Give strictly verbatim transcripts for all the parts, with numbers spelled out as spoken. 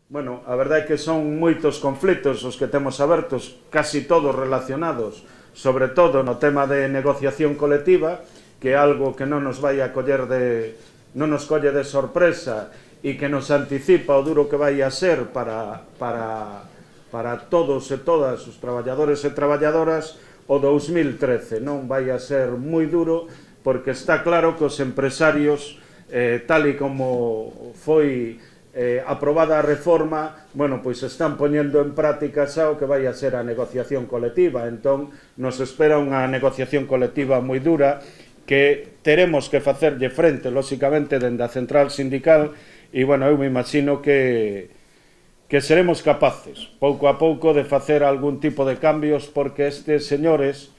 Bueno, a verdade é que son moitos conflitos os que temos abertos, casi todos relacionados, sobre todo no tema de negociación colectiva, que é algo que non nos vai a coller de, non nos colle de sorpresa e que nos anticipa o duro que vai a ser para, para, para todos e todas os traballadores e traballadoras o dous mil trece. Non vai a ser moi duro porque está claro que os empresarios, eh, tal e como foi Eh, aprobada a reforma, bueno, pois están poñendo en práctica xa o que vai a ser a negociación colectiva. Entón, nos espera unha negociación colectiva moi dura que teremos que facerlle frente, lóxicamente, dende a central sindical e, bueno, eu me imagino que, que seremos capaces, pouco a pouco, de facer algún tipo de cambios porque estes señores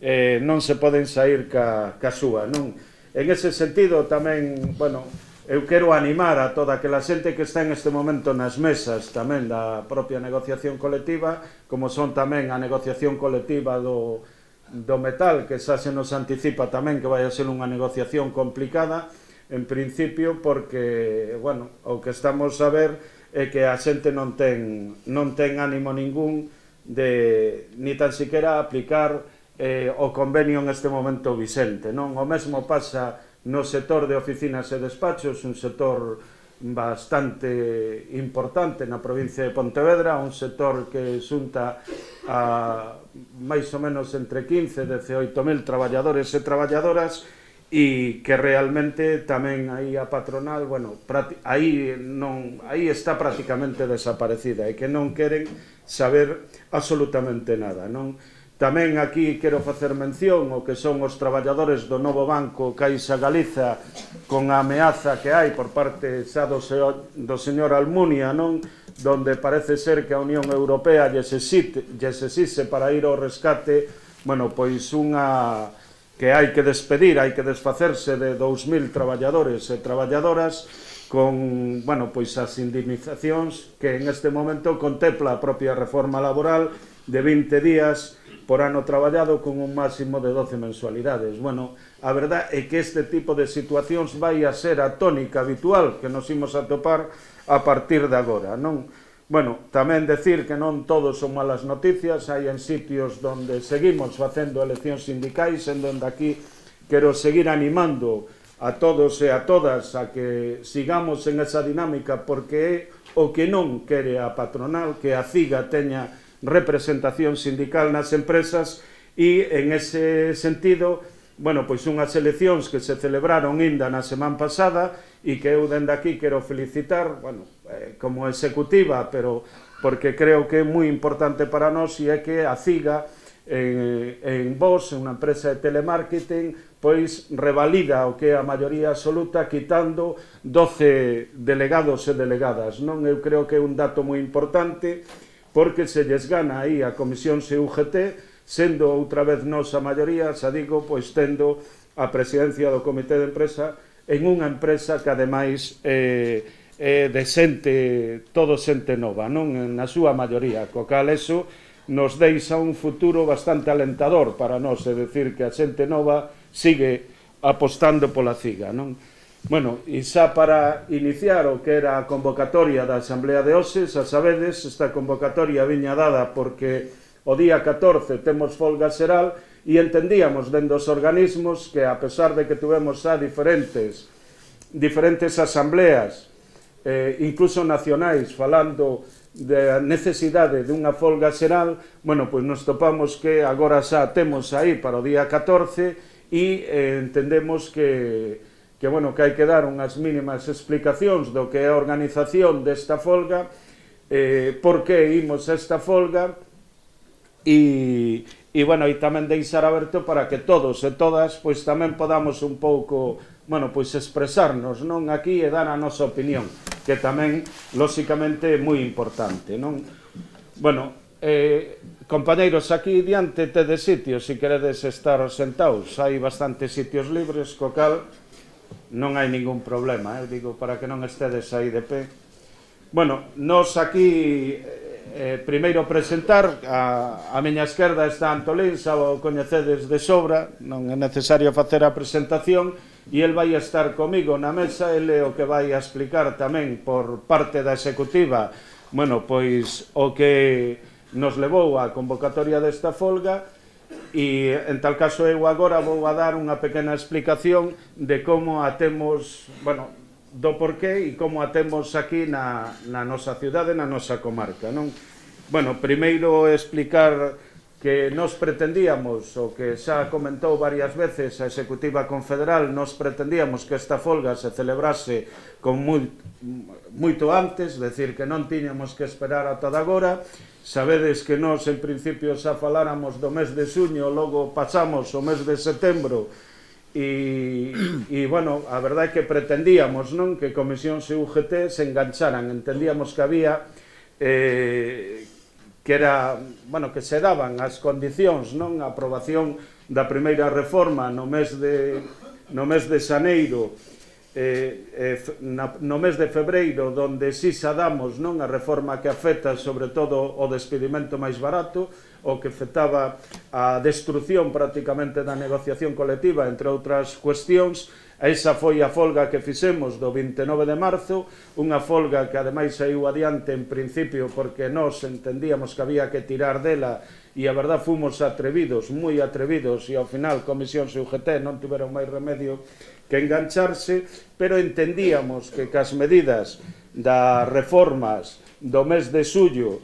eh, non se poden sair ca, ca súa, non? En ese sentido, tamén, bueno, eu quero animar a toda aquela xente que está en este momento nas mesas tamén da propia negociación colectiva, como son tamén a negociación colectiva do, do metal, que xa se nos anticipa tamén que vai a ser unha negociación complicada, en principio, porque, bueno, o que estamos a ver é que a xente non ten, non ten ánimo ningún de, ni tan siquiera aplicar eh, o convenio en este momento vixente, non? O mesmo pasa no sector de oficinas e despachos, un sector bastante importante na provincia de Pontevedra, un sector que xunta a máis ou menos entre quince e dezaoito mil traballadores e traballadoras e que realmente tamén aí a patronal, bueno, aí, non, aí está prácticamente desaparecida e que non queren saber absolutamente nada, non? Tamén aquí quero facer mención o que son os traballadores do novo banco Caixa Galiza con a ameaza que hai por parte xa do, do señor Almunia, non? Donde parece ser que a Unión Europea lles exige para ir ao rescate, bueno, pois unha que hai que despedir, hai que desfacerse de dous mil traballadores e traballadoras con, bueno, pois as indemnizacións que en este momento contempla a propia reforma laboral de vinte días por ano traballado con un máximo de doce mensualidades. Bueno, a verdade é que este tipo de situacións vai a ser a tónica habitual que nos imos a topar a partir de agora, non? Bueno, tamén decir que non todos son malas noticias, hai en sitios onde seguimos facendo eleccións sindicais, en donde aquí quero seguir animando a todos e a todas a que sigamos en esa dinámica porque é o que non quere a patronal, que a CIGA teña representación sindical nas empresas e en ese sentido, bueno, pois unhas eleccións que se celebraron inda na semana pasada e que eu dende aquí quero felicitar, bueno, eh, como executiva, pero porque creo que é moi importante para nós e é que a CIGA en, en Vos, unha empresa de telemarketing, pois revalida o que é a maioría absoluta quitando doce delegados e delegadas, non? Eu creo que é un dato moi importante porque se lles gana aí a Comisión C U G T, sendo outra vez nos a maioría, xa digo, pois tendo a presidencia do Comité de Empresa en unha empresa que ademais é, é de xente, todo xente nova, non? Na súa maioría, co cal eso nos deixa un futuro bastante alentador para nós, é dicir, que a xente nova sigue apostando pola CIGA, non? Bueno, e xa para iniciar o que era a convocatoria da Asamblea de hoxe, xa sabedes, esta convocatoria viña dada porque o día catorce temos folga xeral e entendíamos dende os organismos que, a pesar de que tuvemos xa diferentes, diferentes asambleas, eh, incluso nacionais, falando da necesidade de unha folga xeral, bueno, pois nos topamos que agora xa temos aí para o día catorce e eh, entendemos que que, bueno, que hai que dar unhas mínimas explicacións do que é a organización desta folga, eh, por que imos a esta folga, e, e, bueno, e tamén deixar aberto para que todos e todas, pois, tamén podamos un pouco, bueno, pois, expresarnos, non, aquí e dar a nosa opinión, que tamén, lóxicamente, é moi importante, non? Bueno, eh, compañeiros, aquí diante tedes sitios, se queredes estar sentados, hai bastantes sitios libres, co cal non hai ningún problema, eu digo, para que non estedes aí de pé. Bueno, nos aquí, eh, primeiro presentar, a, a miña esquerda está Antolín, xa o coñecedes de sobra, non é necesario facer a presentación, e el vai estar comigo na mesa, ele é o que vai a explicar tamén por parte da executiva, bueno, pois o que nos levou á convocatoria desta folga, e en tal caso eu agora vou a dar unha pequena explicación de como a temos, bueno, do porqué e como a temos aquí na, na nosa cidade, na nosa comarca, non? Bueno, primeiro explicar que nos pretendíamos, o que xa comentou varias veces a Executiva Confederal, nos pretendíamos que esta folga se celebrase con moi, moito antes, decir, que non tiñamos que esperar ata agora. Sabedes que nós, en principio, xa faláramos do mes de xuño, logo pasamos o mes de setembro, e, e bueno, a verdade é que pretendíamos, non, que Comisións e U G T se engancharan, entendíamos que había... Eh, que era, bueno, que se daban as condicións, non, a aprobación da primeira reforma no mes de no mes de xaneiro, eh, eh, na, no mes de febreiro, donde si xa damos, non, a reforma que afecta sobre todo o despedimento máis barato, o que afectaba a destrucción prácticamente da negociación colectiva, entre outras cuestións. Esa foi a folga que fixemos do vinte e nove de marzo, unha folga que ademais saiu adiante en principio porque nós entendíamos que había que tirar dela, e a verdad fomos atrevidos, moi atrevidos, e ao final Comisións e U G T non tiveron máis remedio que engancharse, pero entendíamos que cas medidas das reformas do mes de xullo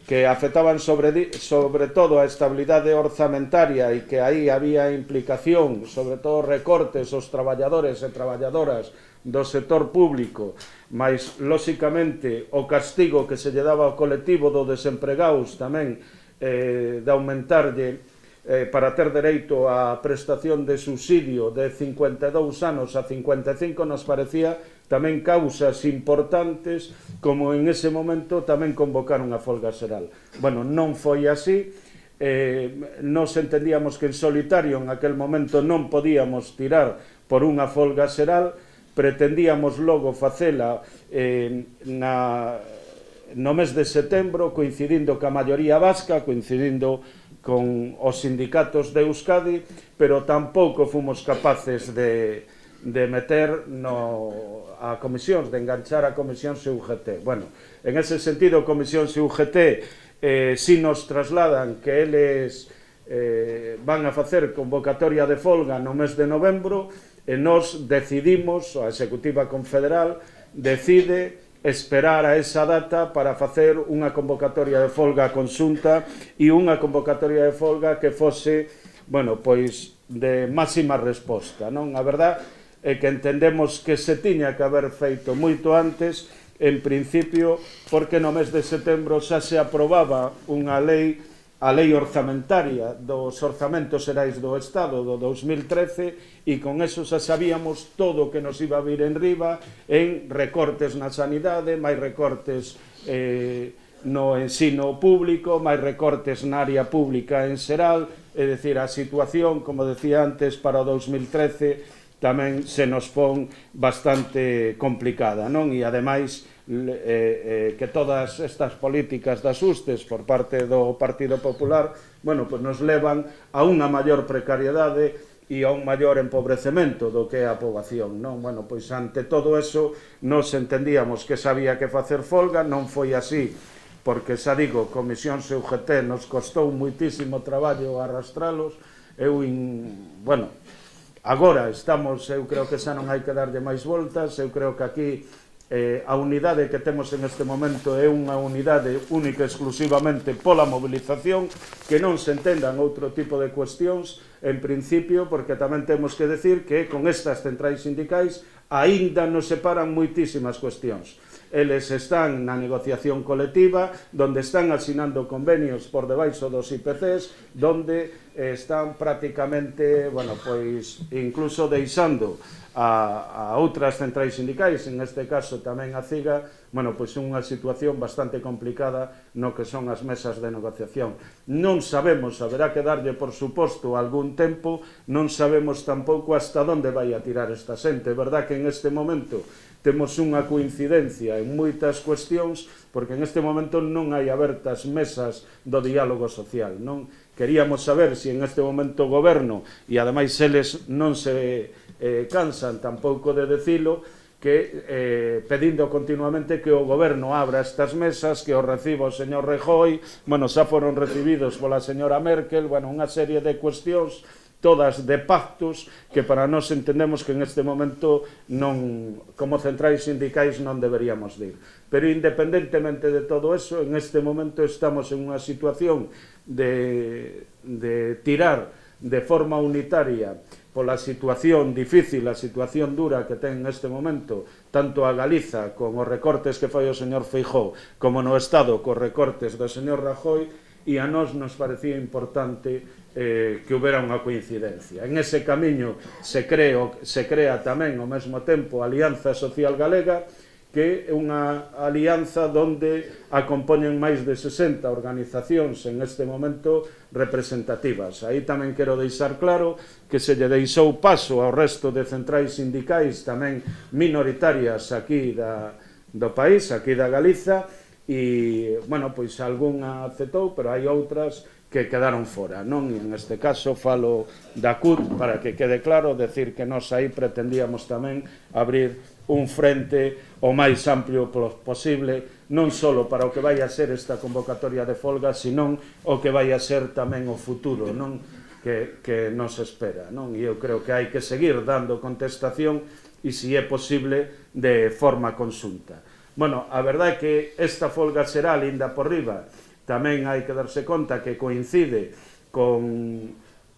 que afectaban sobre, sobre todo a estabilidade orzamentaria e que aí había implicación, sobre todo recortes aos traballadores e traballadoras do sector público, mas, lóxicamente, o castigo que se lle daba ao colectivo do desempregados tamén eh, de aumentarlle eh, para ter dereito á prestación de subsidio de cincuenta e dous anos a cincuenta e cinco, nos parecía tamén causas importantes, como en ese momento tamén convocar unha folga xeral. Bueno, non foi así, eh, nos entendíamos que en solitario en aquel momento non podíamos tirar por unha folga xeral, pretendíamos logo facela eh, na, no mes de setembro, coincidindo ca maioría vasca, coincidindo con os sindicatos de Euskadi, pero tampouco fomos capaces de... de meter no, a comisións, de enganchar a Comisións e U G T. Bueno, en ese sentido, Comisións e U G T eh, si nos trasladan que eles eh, van a facer convocatoria de folga no mes de novembro, e nos decidimos, a Executiva Confederal decide esperar a esa data para facer unha convocatoria de folga conxunta e unha convocatoria de folga que fose, bueno, pois, de máxima resposta, non? A verdade é que entendemos que se tiña que haber feito moito antes, en principio, porque no mes de setembro xa se aprobaba unha lei, a lei orzamentaria dos orzamentos xerais do Estado do dos mil trece, e con eso xa sabíamos todo o que nos iba a vir en riba en recortes na sanidade, máis recortes eh, no ensino público, máis recortes na área pública en xeral, é dicir, a situación, como decía antes, para o dos mil trece tamén se nos pon bastante complicada, non? E, ademais, eh, eh, que todas estas políticas de axustes por parte do Partido Popular, bueno, pues nos levan a unha maior precariedade e a un maior empobrecemento do que é a poboación, non? Bueno, pois ante todo eso nos entendíamos que sabía que facer folga, non foi así, porque, xa digo, Comisións e U G T nos costou muitísimo traballo arrastralos. Eu, in, bueno, agora estamos, eu creo que xa non hai que darlle máis voltas, eu creo que aquí eh, a unidade que temos en este momento é unha unidade única exclusivamente pola movilización, que non se entendan outro tipo de cuestións, en principio, porque tamén temos que decir que con estas centrais sindicais aínda nos separan moitísimas cuestións. Eles están na negociación colectiva, donde están asinando convenios por debaixo dos I P Cs, donde están prácticamente, bueno, pois, incluso deixando a, a outras centrais sindicais, en este caso tamén a CIGA, bueno, pois unha situación bastante complicada no que son as mesas de negociación. Non sabemos, haberá que darlle, por suposto, algún tempo, non sabemos tampouco hasta onde vai a tirar esta xente. É verdad que en este momento temos unha coincidencia en moitas cuestións, porque en este momento non hai abertas mesas do diálogo social, non? Queríamos saber se en este momento o goberno, e ademais eles non se eh, cansan tampouco de decilo, que eh, pedindo continuamente que o goberno abra estas mesas, que o reciba o señor Rajoy, bueno, xa foron recibidos pola señora Merkel, bueno, unha serie de cuestións todas de pactos que para nós entendemos que en este momento non, como centrais sindicais non deberíamos de ir. Pero independentemente de todo eso, en este momento estamos en unha situación de, de tirar de forma unitaria pola situación difícil, a situación dura que ten neste momento tanto a Galiza con os recortes que fai o señor Feijóo como no Estado cos recortes do señor Rajoy, e a nós nos parecía importante eh, que houbera unha coincidencia. En ese camiño se, creo, se crea tamén ao mesmo tempo a Alianza Social Galega, que é unha alianza onde acompañan máis de sesenta organizacións en este momento representativas. Aí tamén quero deixar claro que se lle deixou paso ao resto de centrais sindicais tamén minoritarias aquí da, do país, aquí da Galiza, e, bueno, pois algunha aceptou, pero hai outras que quedaron fora, non? E en este caso falo da C U T para que quede claro, decir que nós aí pretendíamos tamén abrir un frente o máis amplio posible, non só para o que vai a ser esta convocatoria de folga, senón o que vai a ser tamén o futuro, non? Que, que nos espera, non? E eu creo que hai que seguir dando contestación e, se é posible, de forma consulta. Bueno, a verdade é que esta folga xeral, inda por riba, tamén hai que darse conta que coincide con,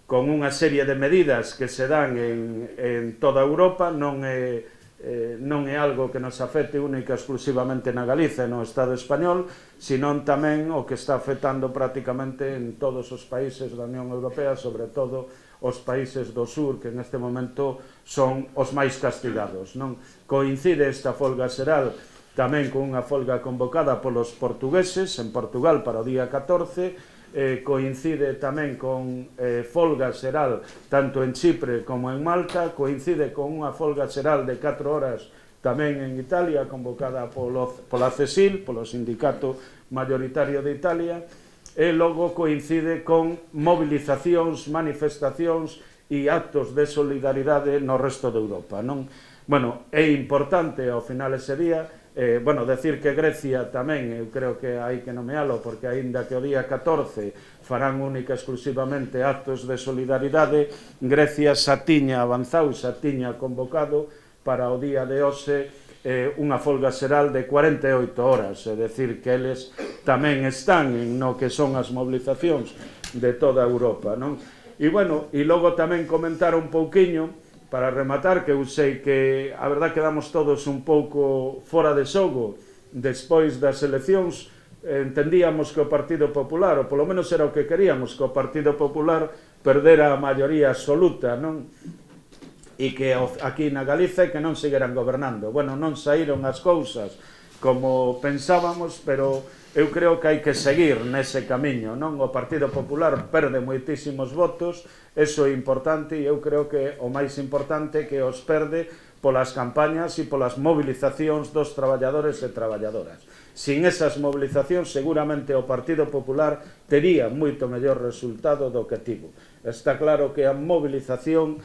con unha serie de medidas que se dan en, en toda Europa, non é, eh, non é algo que nos afecte única e exclusivamente na Galiza e no Estado español, senón tamén o que está afectando prácticamente en todos os países da Unión Europea, sobre todo os países do sur, que neste momento son os máis castigados, non? Coincide esta folga xeral tamén con unha folga convocada polos portugueses en Portugal para o día catorce, eh, coincide tamén con eh, folga xeral tanto en Chipre como en Malta, coincide con unha folga xeral de catro horas tamén en Italia, convocada polo, pola CESIL, polo sindicato mayoritario de Italia, e logo coincide con movilizacións, manifestacións e actos de solidaridade no resto de Europa, non? Bueno, é importante ao final ese día, Eh, bueno, decir que Grecia tamén, eu creo que hai que nomealo, porque aínda que o día catorce farán única exclusivamente actos de solidaridade, Grecia xa tiña avanzado, xa tiña convocado para o día de hoxe eh, unha folga xeral de cuarenta e oito horas, é dicir, que eles tamén están en no que son as movilizacións de toda Europa, non? E, bueno, e logo tamén comentar un pouquiño, para rematar, que eu sei que a verdad quedamos todos un pouco fora de xogo despois das eleccións, entendíamos que o Partido Popular, ou polo menos era o que queríamos, que o Partido Popular perdera a maioría absoluta, non? E que aquí na Galiza que non seguiran gobernando. Bueno, non saíron as cousas como pensábamos, pero eu creo que hai que seguir nese camiño, non? O Partido Popular perde moitísimos votos, eso é importante, e eu creo que o máis importante que os perde polas campañas e polas movilizacións dos traballadores e traballadoras. Sin esas movilizacións, seguramente o Partido Popular tería moito mellor resultado do que tivo. Está claro que a movilización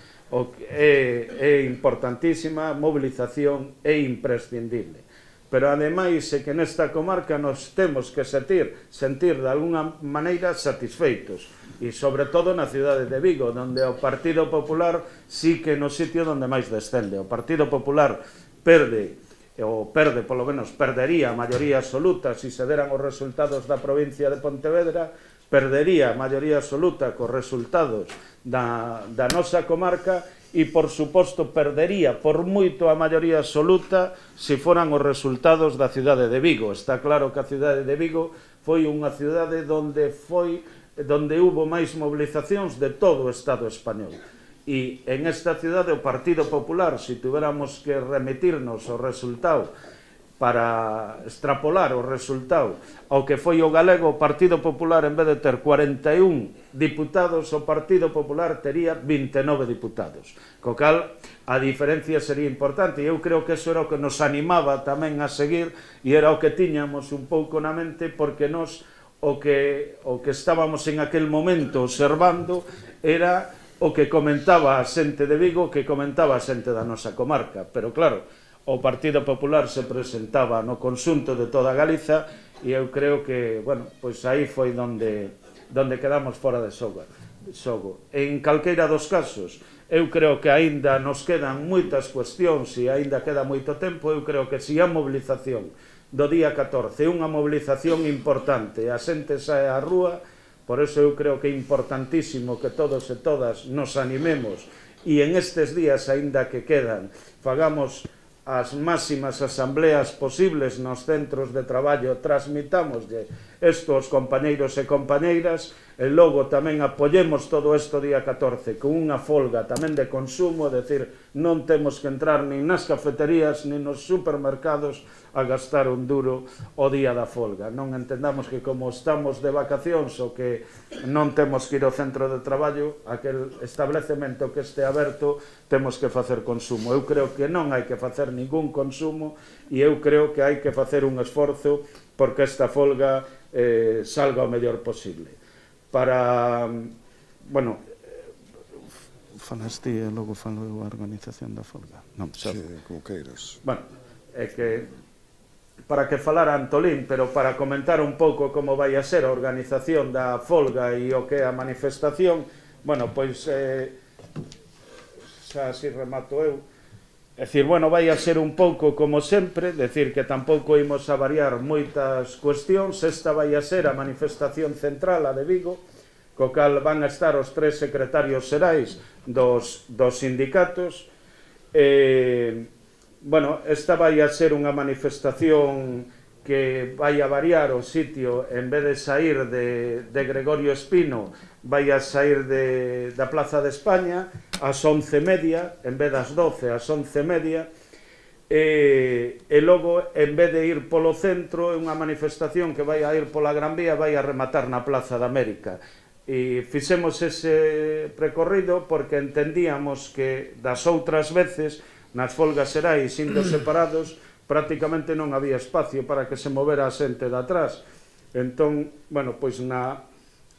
é, é importantísima, a movilización é imprescindible. Pero ademais é que nesta comarca nos temos que sentir, sentir de alguna maneira satisfeitos, e sobre todo na cidade de Vigo, onde o Partido Popular sí que no sitio onde máis descende. O Partido Popular perde, ou perde, polo menos perdería a maioría absoluta se se deran os resultados da provincia de Pontevedra, perdería a maioría absoluta cos resultados da, da nosa comarca, e, por suposto, perdería por moito a maioría absoluta se foran os resultados da cidade de Vigo. Está claro que a cidade de Vigo foi unha cidade onde foi onde hubo máis movilizacións de todo o Estado español. E en esta cidade o Partido Popular, se tuviéramos que remitirnos ao resultado para extrapolar o resultado ao que foi o galego, o Partido Popular, en vez de ter cuarenta e un diputados, o Partido Popular tería vinte e nove diputados, co cal a diferencia sería importante, e eu creo que eso era o que nos animaba tamén a seguir, e era o que tiñamos un pouco na mente, porque nos o que, o que estábamos en aquel momento observando era o que comentaba a xente de Vigo, que comentaba a xente da nosa comarca, pero claro, o Partido Popular se presentaba no conxunto de toda Galiza e eu creo que, bueno, pois aí foi donde, donde quedamos fora de xogo. En calqueira dos casos, eu creo que aínda nos quedan moitas cuestións e aínda queda moito tempo. Eu creo que se a mobilización do día catorce é unha mobilización importante, a xente sae á rúa. Por eso eu creo que é importantísimo que todos e todas nos animemos e en estes días, aínda que quedan, fagamos as máximas asambleas posibles nos centros de traballo, transmitámoslle isto aos compañeiros e compañeiras, e logo tamén apoyemos todo isto día catorce con unha folga tamén de consumo, é dicir, non temos que entrar nin nas cafeterías nin nos supermercados a gastar un duro o día da folga. Non entendamos que como estamos de vacacións ou que non temos que ir ao centro de traballo, aquel establecemento que este aberto, temos que facer consumo. Eu creo que non hai que facer ningún consumo e eu creo que hai que facer un esforzo porque esta folga eh, salga o mellor posible. Para, bueno, falas ti e logo falo a organización da folga. Non, xa... Sí, como queiras. Bueno, é que para que falara Antolín, pero para comentar un pouco como vai a ser a organización da folga e o que é a manifestación, bueno, pois eh, xa así remato eu. É dicir, bueno, vai a ser un pouco como sempre, decir que tampouco imos a variar moitas cuestións. Esta vai a ser a manifestación central, a de Vigo, co cal van a estar os tres secretarios xerais dos, dos sindicatos. E, bueno, esta vai a ser unha manifestación que vai a variar o sitio, en vez de sair de, de Gregorio Espino, vai a sair de, da Plaza de España ás once e media, en vez das doce, ás once e media, e, e logo, en vez de ir polo centro, é unha manifestación que vai a ir pola Gran Vía, vai a rematar na Plaza de América. E fixemos ese percorrido porque entendíamos que das outras veces, nas folgas xerais indo separados, prácticamente non había espacio para que se movera a xente de atrás. Entón, bueno, pois na,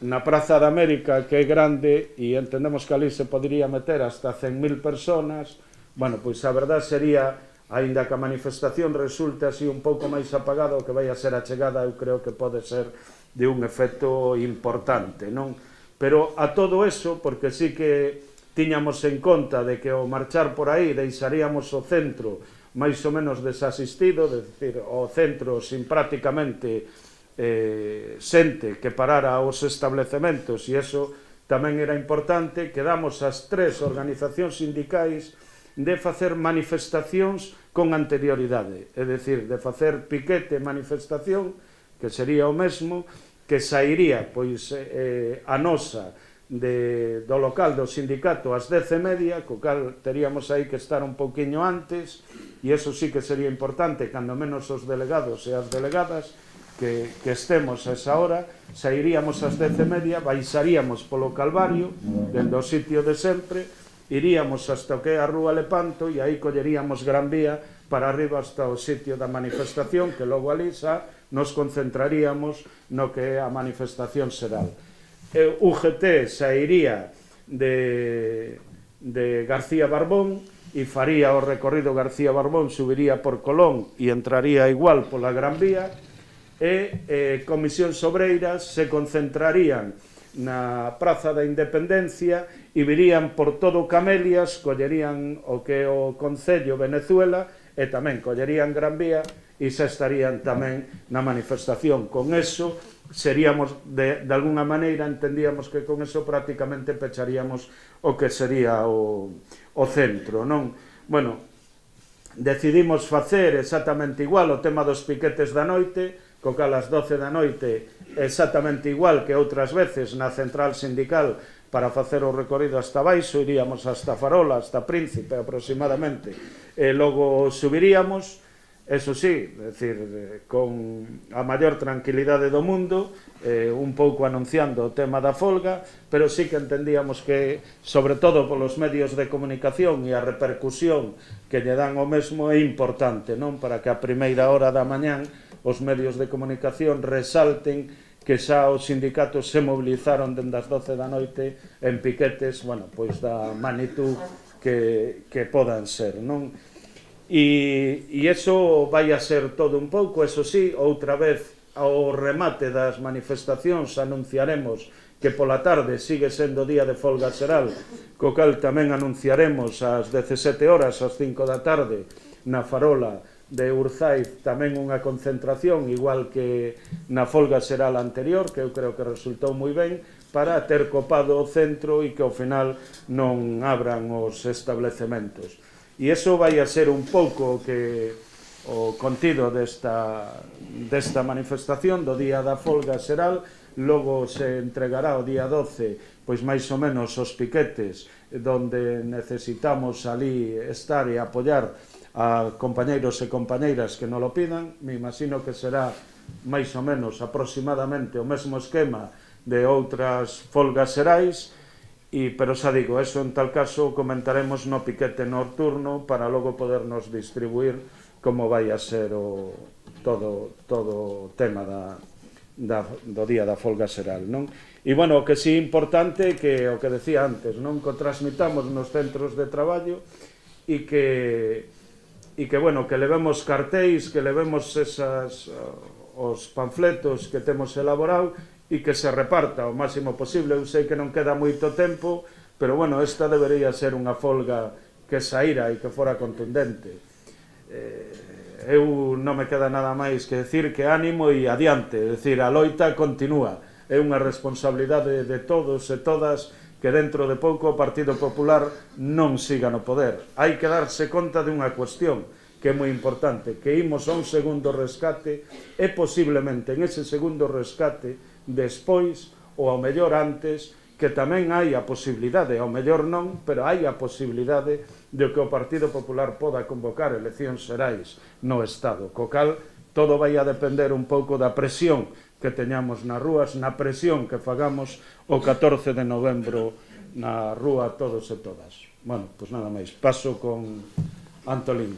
na Praza de América, que é grande, e entendemos que ali se podría meter hasta cen mil personas, bueno, pois a verdad sería, aínda que a manifestación resulte así un pouco máis apagada, o que vai a ser a chegada, eu creo que pode ser de un efecto importante, non? Pero a todo eso, porque sí que tiñamos en conta de que ao marchar por aí deixaríamos o centro máis ou menos desasistido, é dicir, o centro sin prácticamente eh, xente que parara os establecementos, e iso tamén era importante. Quedamos as tres organizacións sindicais de facer manifestacións con anterioridade, é dicir, de facer piquete manifestación, que sería o mesmo, que sairía pois eh, a nosa de, do local do sindicato ás dez e media, co cal teríamos aí que estar un pouquiño antes, e iso sí que sería importante, cando menos os delegados e as delegadas que, que estemos a esa hora, sairíamos ás dez e media, baixaríamos polo Calvario, dende o sitio de sempre, iríamos hasta o que é a Rúa Lepanto e aí colleríamos Gran Vía para arriba hasta o sitio da manifestación, que logo ali xa nos concentraríamos no que é a manifestación xeral. U G T sairía de, de García Barbón e faría o recorrido García Barbón, subiría por Colón e entraría igual pola Gran Vía, e eh, Comisións Obreiras se concentrarían na Praza da Independencia e virían por todo Camelias, collerían o que é o Concello Venezuela e tamén collerían Gran Vía e xa estarían tamén na manifestación. Con eso seríamos, de, de alguna maneira, entendíamos que con eso prácticamente pecharíamos o que sería o, o centro, non? Bueno, decidimos facer exactamente igual o tema dos piquetes da noite, co cal as doce da noite exactamente igual que outras veces na central sindical para facer o recorrido hasta baixo, iríamos hasta Farola, hasta Príncipe aproximadamente, e logo subiríamos. Eso sí, é dicir, con a maior tranquilidade do mundo, eh, un pouco anunciando o tema da folga, pero sí que entendíamos que, sobre todo polos medios de comunicación e a repercusión que lle dan o mesmo, é importante, non? Para que a primeira hora da mañán os medios de comunicación resalten que xa os sindicatos se mobilizaron dende as doce da noite en piquetes, bueno, pois da magnitud que, que podan ser, non? E, e iso vai a ser todo un pouco, eso sí, outra vez ao remate das manifestacións anunciaremos que pola tarde sigue sendo día de folga xeral, co cal tamén anunciaremos ás dezasete horas, ás cinco da tarde, na farola de Urzaiz tamén unha concentración, igual que na folga xeral anterior, que eu creo que resultou moi ben, para ter copado o centro e que ao final non abran os establecementos. E iso vai a ser un pouco que o contido desta, desta manifestación do día da folga xeral. Logo se entregará o día doce, pois máis ou menos os piquetes, donde necesitamos ali estar e apoiar a compañeiros e compañeiras que non lo pidan. Me imagino que será máis ou menos aproximadamente o mesmo esquema de outras folgas xerais, e, pero xa digo, eso en tal caso comentaremos no piquete nocturno para logo podernos distribuir como vai a ser o, todo, todo o tema da, da, do día da folga xeral, non? E, bueno, o que sí importante que o que decía antes, non? Que o transmitamos nos centros de traballo e que e que, bueno, que levemos cartéis, que levemos esas, os panfletos que temos elaborado e que se reparta o máximo posible. Eu sei que non queda moito tempo, pero, bueno, esta debería ser unha folga que saíra e que fora contundente. Eh, eu non me queda nada máis que decir que ánimo e adiante, é dicir, a loita continúa. É unha responsabilidade de todos e todas que dentro de pouco o Partido Popular non siga no poder. Hai que darse conta de unha cuestión que é moi importante, que imos a un segundo rescate e posiblemente en ese segundo rescate despois, ou ao mellor antes, que tamén hai a posibilidade, ao mellor non, pero hai a posibilidade de que o Partido Popular poda convocar eleccións xerais no Estado, co cal todo vai a depender un pouco da presión que teñamos nas rúas, na presión que fagamos o catorce de novembro na rúa todos e todas. Bueno, pois nada máis, paso con Antolín.